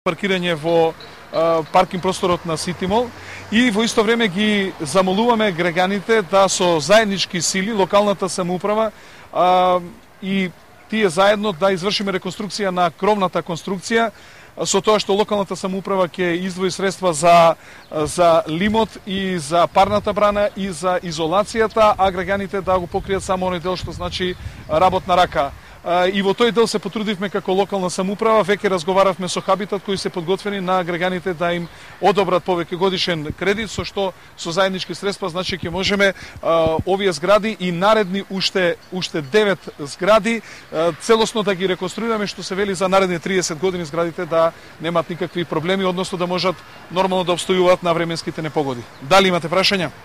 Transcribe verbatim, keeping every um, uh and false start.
паркирање во а, паркинг просторот на Ситимол и во исто време ги замолуваме граѓаните да со заеднички сили, локалната самоуправа а, и тие заедно да извршиме реконструкција на кровната конструкција, со тоа што локалната самоуправа ќе издвои средства за за лимот и за парната брана и за изолацијата, а граѓаните да го покријат само оној дел што значи работна рака. И во тој дел се потрудивме како локална самоуправа, веќе разговаравме со Хабитат кои се подготвени на граѓаните да им одобрат повеќе годишен кредит, со што со заеднички средства значи ќе можеме а, овие згради и наредни уште уште девет згради а, целосно да ги реконструираме, што се вели за наредни триесет години зградите да немат никакви проблеми, односно да можат нормално да обстојуваат на временските непогоди. Дали имате прашања?